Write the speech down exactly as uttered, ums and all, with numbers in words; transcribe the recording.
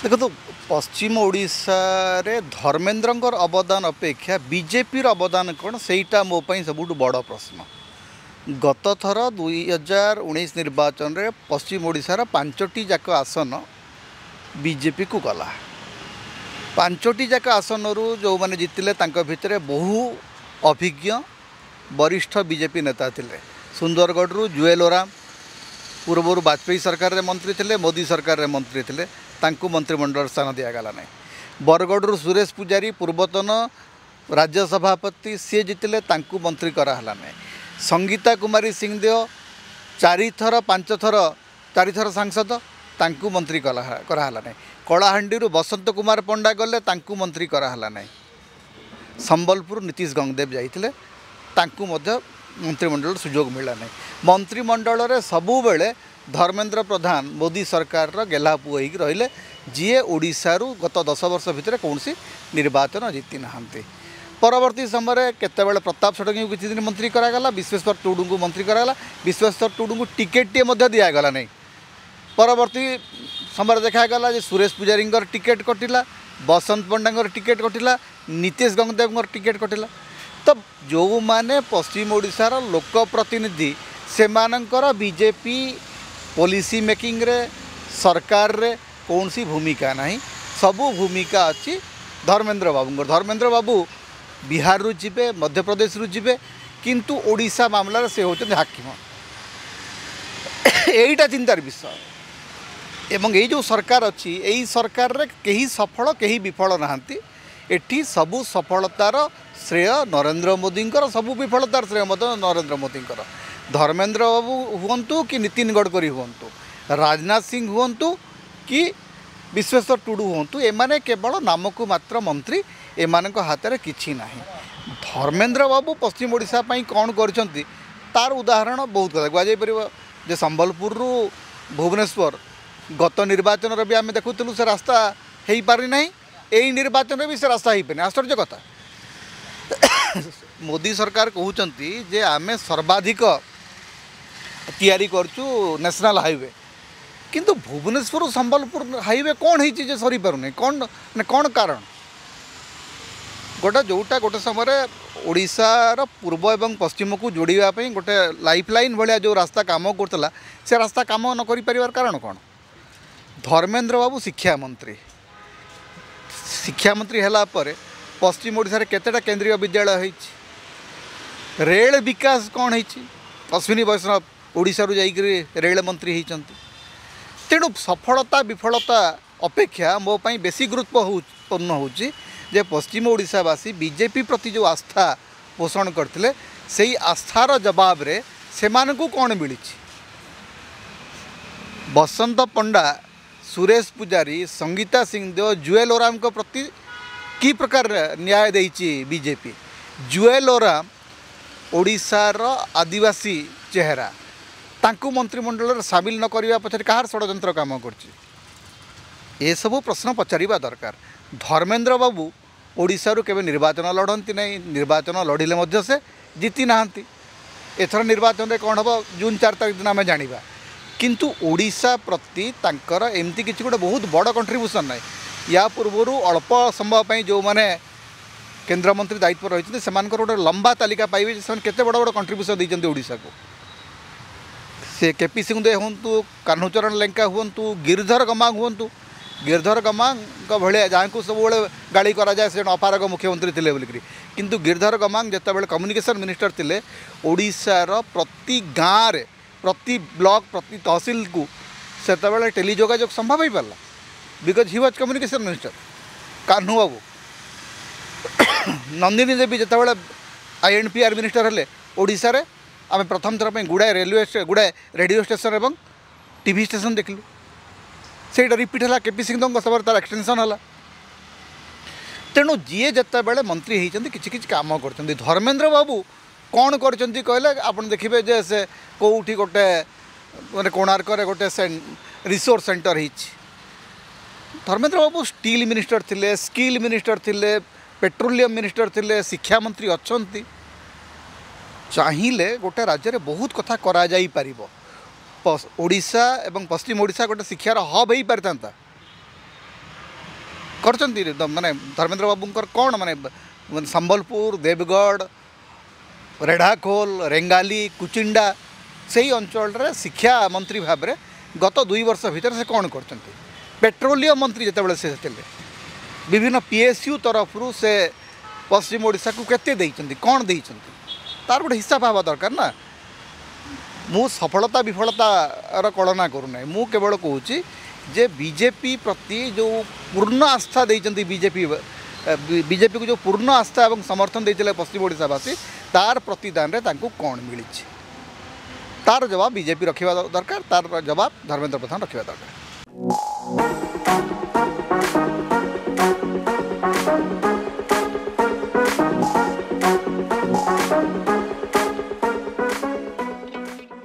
ଦେଖନ୍ତୁ, ପଶ୍ଚିମ ଓଡ଼ିଶାରେ ଧର୍ମେନ୍ଦ୍ରଙ୍କର ଅବଦାନ ଅପେକ୍ଷା ବିଜେପିର ଅବଦାନ କ'ଣ, ସେଇଟା ମୋ ପାଇଁ ସବୁଠୁ ବଡ଼ ପ୍ରଶ୍ନ। ଗତ ଥର ଦୁଇ ହଜାର ଉଣେଇଶ ନିର୍ବାଚନରେ ପଶ୍ଚିମ ଓଡ଼ିଶାର ପାଞ୍ଚଟି ଯାକ ଆସନ ବିଜେପିକୁ ଗଲା। ପାଞ୍ଚଟି ଯାକ ଆସନରୁ ଯେଉଁମାନେ ଜିତିଲେ, ତାଙ୍କ ଭିତରେ ବହୁ ଅଭିଜ୍ଞ ବରିଷ୍ଠ ବିଜେପି ନେତା ଥିଲେ। ସୁନ୍ଦରଗଡ଼ରୁ ଜୁଏଲ ଓରାମ ପୂର୍ବରୁ ବାଜପେୟୀ ସରକାରରେ ମନ୍ତ୍ରୀ ଥିଲେ, ମୋଦି ସରକାରରେ ମନ୍ତ୍ରୀ ଥିଲେ, ତାଙ୍କୁ ମନ୍ତ୍ରିମଣ୍ଡଳରେ ସ୍ଥାନ ଦିଆଗଲା ନାହିଁ। ବରଗଡ଼ରୁ ସୁରେଶ ପୂଜାରୀ, ପୂର୍ବତନ ରାଜ୍ୟ ସଭାପତି, ସିଏ ଜିତିଲେ, ତାଙ୍କୁ ମନ୍ତ୍ରୀ କରାହେଲା ନାହିଁ। ସଙ୍ଗୀତା କୁମାରୀ ସିଂଦେଓ ଚାରିଥର, ପାଞ୍ଚ ଥର, ଚାରିଥର ସାଂସଦ, ତାଙ୍କୁ ମନ୍ତ୍ରୀ କରାହେଲା ନାହିଁ। କଳାହାଣ୍ଡିରୁ ବସନ୍ତ କୁମାର ପଣ୍ଡା ଗଲେ, ତାଙ୍କୁ ମନ୍ତ୍ରୀ କରାହେଲା ନାହିଁ। ସମ୍ବଲପୁର ନୀତିଶ ଗଙ୍ଗଦେବ ଯାଇଥିଲେ, ତାଙ୍କୁ ମଧ୍ୟ ମନ୍ତ୍ରିମଣ୍ଡଳରେ ସୁଯୋଗ ମିଳିଲା ନାହିଁ। ମନ୍ତ୍ରିମଣ୍ଡଳରେ ସବୁବେଳେ ଧର୍ମେନ୍ଦ୍ର ପ୍ରଧାନ ମୋଦି ସରକାରର ଗେହ୍ଲା ପୁଅ ହେଇକି ରହିଲେ, ଯିଏ ଓଡ଼ିଶାରୁ ଗତ ଦଶ ବର୍ଷ ଭିତରେ କୌଣସି ନିର୍ବାଚନ ଜିତି ନାହାନ୍ତି। ପରବର୍ତ୍ତୀ ସମୟରେ କେତେବେଳେ ପ୍ରତାପ ଷଡ଼ଙ୍ଗୀଙ୍କୁ କିଛି ଦିନ ମନ୍ତ୍ରୀ କରାଗଲା, ବିଶ୍ୱେଶ୍ୱର ଟୁଡ଼ୁଙ୍କୁ ମନ୍ତ୍ରୀ କରାଗଲା, ବିଶ୍ୱେଶ୍ୱର ଟୁଡ଼ୁଙ୍କୁ ଟିକେଟ୍ଟିଏ ମଧ୍ୟ ଦିଆଗଲା ନାହିଁ। ପରବର୍ତ୍ତୀ ସମୟରେ ଦେଖାଗଲା ଯେ ସୁରେଶ ପୂଜାରୀଙ୍କର ଟିକେଟ୍ କଟିଲା, ବସନ୍ତ ପଣ୍ଡାଙ୍କର ଟିକେଟ୍ କଟିଲା, ନୀତିଶ ଗଙ୍ଗଦେବଙ୍କର ଟିକେଟ୍ କଟିଲା। ତ ଯେଉଁମାନେ ପଶ୍ଚିମ ଓଡ଼ିଶାର ଲୋକ ପ୍ରତିନିଧି, ସେମାନଙ୍କର ବିଜେପି ପଲିସି ମେକିଂରେ, ସରକାରରେ କୌଣସି ଭୂମିକା ନାହିଁ। ସବୁ ଭୂମିକା ଅଛି ଧର୍ମେନ୍ଦ୍ର ବାବୁଙ୍କର। ଧର୍ମେନ୍ଦ୍ର ବାବୁ ବିହାରରୁ ଯିବେ, ମଧ୍ୟପ୍ରଦେଶରୁ ଯିବେ, କିନ୍ତୁ ଓଡ଼ିଶା ମାମଲାରେ ସେ ହେଉଛନ୍ତି ହାକିମ। ଏଇଟା ଚିନ୍ତାର ବିଷୟ। ଏବଂ ଏଇ ଯେଉଁ ସରକାର ଅଛି, ଏଇ ସରକାରରେ କେହି ସଫଳ, କେହି ବିଫଳ ନାହାନ୍ତି। ଏଠି ସବୁ ସଫଳତାର ଶ୍ରେୟ ନରେନ୍ଦ୍ର ମୋଦିଙ୍କର, ସବୁ ବିଫଳତାର ଶ୍ରେୟ ମଧ୍ୟ ନରେନ୍ଦ୍ର ମୋଦିଙ୍କର। ଧର୍ମେନ୍ଦ୍ର ବାବୁ ହୁଅନ୍ତୁ କି ନୀତିନ ଗଡ଼କରୀ ହୁଅନ୍ତୁ, ରାଜନାଥ ସିଂ ହୁଅନ୍ତୁ କି ବିଶ୍ୱେଶ୍ୱର ଟୁଡ଼ୁ ହୁଅନ୍ତୁ, ଏମାନେ କେବଳ ନାମକୁ ମାତ୍ର ମନ୍ତ୍ରୀ, ଏମାନଙ୍କ ହାତରେ କିଛି ନାହିଁ। ଧର୍ମେନ୍ଦ୍ର ବାବୁ ପଶ୍ଚିମ ଓଡ଼ିଶା ପାଇଁ କ'ଣ କରିଛନ୍ତି, ତାର ଉଦାହରଣ ବହୁତ କଥା କୁହାଯାଇପାରିବ ଯେ ସମ୍ବଲପୁରରୁ ଭୁବନେଶ୍ୱର ଗତ ନିର୍ବାଚନରେ ବି ଆମେ ଦେଖୁଥିଲୁ ସେ ରାସ୍ତା ହେଇପାରିନାହିଁ, ଏଇ ନିର୍ବାଚନରେ ବି ସେ ରାସ୍ତା ହେଇପାରିନି। ଆଶ୍ଚର୍ଯ୍ୟ କଥା, ମୋଦି ସରକାର କହୁଛନ୍ତି ଯେ ଆମେ ସର୍ବାଧିକ ତିଆରି କରୁଛୁ ନ୍ୟାସନାଲ୍ ହାଇୱେ, କିନ୍ତୁ ଭୁବନେଶ୍ୱରରୁ ସମ୍ବଲପୁର ହାଇୱେ କ'ଣ ହେଇଛି ଯେ ସରିପାରୁନି? କ'ଣ ମାନେ କ'ଣ କାରଣ? ଗୋଟେ ଯେଉଁଟା ଗୋଟେ ସମୟରେ ଓଡ଼ିଶାର ପୂର୍ବ ଏବଂ ପଶ୍ଚିମକୁ ଯୋଡ଼ିବା ପାଇଁ ଗୋଟେ ଲାଇଫ୍ ଲାଇନ୍ ଭଳିଆ ଯେଉଁ ରାସ୍ତା କାମ କରୁଥିଲା, ସେ ରାସ୍ତା କାମ ନ କରିପାରିବାର କାରଣ କ'ଣ? ଧର୍ମେନ୍ଦ୍ର ବାବୁ ଶିକ୍ଷାମନ୍ତ୍ରୀ, ଶିକ୍ଷାମନ୍ତ୍ରୀ ହେଲା ପରେ ପଶ୍ଚିମ ଓଡ଼ିଶାରେ କେତେଟା କେନ୍ଦ୍ରୀୟ ବିଦ୍ୟାଳୟ ହେଇଛି? ରେଳ ବିକାଶ କ'ଣ ହେଇଛି? ଅଶ୍ୱିନୀ ବୈଷ୍ଣବ ଓଡ଼ିଶାରୁ ଯାଇକରି ରେଳ ମନ୍ତ୍ରୀ ହେଇଛନ୍ତି। ତେଣୁ ସଫଳତା ବିଫଳତା ଅପେକ୍ଷା ମୋ ପାଇଁ ବେଶୀ ଗୁରୁତ୍ୱପୂର୍ଣ୍ଣ ହେଉଛି ଯେ ପଶ୍ଚିମ ଓଡ଼ିଶାବାସୀ ବିଜେପି ପ୍ରତି ଯେଉଁ ଆସ୍ଥା ପୋଷଣ କରିଥିଲେ, ସେଇ ଆସ୍ଥାର ଜବାବରେ ସେମାନଙ୍କୁ କ'ଣ ମିଳିଛି? ବସନ୍ତ ପଣ୍ଡା, ସୁରେଶ ପୂଜାରୀ, ସଙ୍ଗୀତା ସିଂଦେଓ, ଜୁଏଲ ଓରାମଙ୍କ ପ୍ରତି କି ପ୍ରକାର ନ୍ୟାୟ ଦେଇଛି ବିଜେପି? ଜୁଏଲ ଓରାମ ଓଡ଼ିଶାର ଆଦିବାସୀ ଚେହେରା, ତାଙ୍କୁ ମନ୍ତ୍ରିମଣ୍ଡଳରେ ସାମିଲ ନ କରିବା ପଛରେ କାହାର ଷଡ଼ଯନ୍ତ୍ର କାମ କରୁଛି? ଏସବୁ ପ୍ରଶ୍ନ ପଚାରିବା ଦରକାର। ଧର୍ମେନ୍ଦ୍ର ବାବୁ ଓଡ଼ିଶାରୁ କେବେ ନିର୍ବାଚନ ଲଢ଼ନ୍ତି ନାହିଁ, ନିର୍ବାଚନ ଲଢ଼ିଲେ ମଧ୍ୟ ସେ ଜିତି ନାହାନ୍ତି। ଏଥର ନିର୍ବାଚନରେ କ'ଣ ହେବ, ଜୁନ୍ ଚାରି ତାରିଖ ଦିନ ଆମେ ଜାଣିବା। କିନ୍ତୁ ଓଡ଼ିଶା ପ୍ରତି ତାଙ୍କର ଏମିତି କିଛି ଗୋଟେ ବହୁତ ବଡ଼ କଣ୍ଟ୍ରିବ୍ୟୁସନ୍ ନାହିଁ। ୟା ପୂର୍ବରୁ ଅଳ୍ପ ସମୟ ପାଇଁ ଯେଉଁମାନେ କେନ୍ଦ୍ରମନ୍ତ୍ରୀ ଦାୟିତ୍ୱ ରହିଛନ୍ତି, ସେମାନଙ୍କର ଗୋଟେ ଲମ୍ବା ତାଲିକା ପାଇବେ ଯେ ସେମାନେ କେତେ ବଡ଼ ବଡ଼ କଣ୍ଟ୍ରିବ୍ୟୁସନ୍ ଦେଇଛନ୍ତି ଓଡ଼ିଶାକୁ। ସେ କେ ପି ସିଂଦେଓ ହୁଅନ୍ତୁ, କାହ୍ନୁଚରଣ ଲେଙ୍କା ହୁଅନ୍ତୁ, ଗିରିଧର ଗମାଙ୍ଗ ହୁଅନ୍ତୁ। ଗିରିଧର ଗମାଙ୍ଗଙ୍କ ଭଳିଆ, ଯାହାଙ୍କୁ ସବୁବେଳେ ଗାଳି କରାଯାଏ ସେ ଜଣେ ଅପାରଗ ମୁଖ୍ୟମନ୍ତ୍ରୀ ଥିଲେ ବୋଲିକିରି, କିନ୍ତୁ ଗିରିଧର ଗମାଙ୍ଗ ଯେତେବେଳେ କମ୍ୟୁନିକେସନ୍ ମିନିଷ୍ଟର ଥିଲେ, ଓଡ଼ିଶାର ପ୍ରତି ଗାଁରେ, ପ୍ରତି ବ୍ଲକ, ପ୍ରତି ତହସିଲକୁ ସେତେବେଳେ ଟେଲି ଯୋଗାଯୋଗ ସମ୍ଭବ ହେଇପାରିଲା, because he was communication minister. Kanhu babu, Nandini ଦେବୀ ଯେତେବେଳେ I and P R minister ହେଲେ, ଓଡ଼ିଶାରେ ଆମେ ପ୍ରଥମ ଥର ପାଇଁ ଗୁଡ଼ାଏ ରେଲୱେ, ଗୁଡ଼ାଏ ରେଡ଼ିଓ ଷ୍ଟେସନ୍ ଏବଂ ଟିଭି ଷ୍ଟେସନ୍ ଦେଖିଲୁ। ସେଇଟା ରିପିଟ୍ ହେଲା କେପି ସିଂଦେଓଙ୍କ ସମୟରେ, ତା'ର ଏକ୍ସଟେନସନ୍ ହେଲା। ତେଣୁ ଯିଏ ଯେତେବେଳେ ମନ୍ତ୍ରୀ ହେଇଛନ୍ତି, କିଛି କିଛି କାମ କରିଛନ୍ତି। ଧର୍ମେନ୍ଦ୍ର ବାବୁ କ'ଣ କରିଛନ୍ତି କହିଲେ ଆପଣ ଦେଖିବେ ଯେ ସେ କେଉଁଠି ଗୋଟେ ମାନେ କୋଣାର୍କରେ ଗୋଟେ ରିସୋର୍ସ ସେଣ୍ଟର ହେଇଛି। ଧର୍ମେନ୍ଦ୍ର ବାବୁ ଷ୍ଟିଲ୍ ମିନିଷ୍ଟର ଥିଲେ, ସ୍କିଲ୍ ମିନିଷ୍ଟର ଥିଲେ, ପେଟ୍ରୋଲିୟମ ମିନିଷ୍ଟର ଥିଲେ, ଶିକ୍ଷାମନ୍ତ୍ରୀ ଅଛନ୍ତି। ଚାହିଁଲେ ଗୋଟେ ରାଜ୍ୟରେ ବହୁତ କଥା କରାଯାଇପାରିବ। ଓଡ଼ିଶା ଏବଂ ପଶ୍ଚିମ ଓଡ଼ିଶା ଗୋଟେ ଶିକ୍ଷାର ହବ୍ ହେଇପାରିଥାନ୍ତା। କରିଛନ୍ତି ମାନେ ଧର୍ମେନ୍ଦ୍ର ବାବୁଙ୍କର କ'ଣ ମାନେ ସମ୍ବଲପୁର, ଦେବଗଡ଼, ରେଢ଼ାଖୋଲ, ରେଙ୍ଗାଲି, କୁଚିଣ୍ଡା ସେଇ ଅଞ୍ଚଳରେ ଶିକ୍ଷା ମନ୍ତ୍ରୀ ଭାବରେ ଗତ ଦୁଇ ବର୍ଷ ଭିତରେ ସେ କ'ଣ କରିଛନ୍ତି? ପେଟ୍ରୋଲିୟମ ମନ୍ତ୍ରୀ ଯେତେବେଳେ ସେ ଥିଲେ, ବିଭିନ୍ନ ପି ଏସ୍ ୟୁ ତରଫରୁ ସେ ପଶ୍ଚିମ ଓଡ଼ିଶାକୁ କେତେ ଦେଇଛନ୍ତି, କ'ଣ ଦେଇଛନ୍ତି, ତାର ଗୋଟେ ହିସାବ ହେବା ଦରକାର ନା। ମୁଁ ସଫଳତା ବିଫଳତାର କଳନା କରୁନାହିଁ, ମୁଁ କେବଳ କହୁଛି ଯେ ବିଜେପି ପ୍ରତି ଯେଉଁ ପୂର୍ଣ୍ଣ ଆସ୍ଥା ଦେଇଛନ୍ତି, ବିଜେପି ବିଜେପିକୁ ଯେଉଁ ପୂର୍ଣ୍ଣ ଆସ୍ଥା ଏବଂ ସମର୍ଥନ ଦେଇଥିଲେ ପଶ୍ଚିମ ଓଡ଼ିଶାବାସୀ, ତାର ପ୍ରତିଦାନରେ ତାଙ୍କୁ କ'ଣ ମିଳିଛି, ତାର ଜବାବ ବିଜେପି ରଖିବା ଦରକାର, ତାର ଜବାବ ଧର୍ମେନ୍ଦ୍ର ପ୍ରଧାନ ରଖିବା ଦରକାର।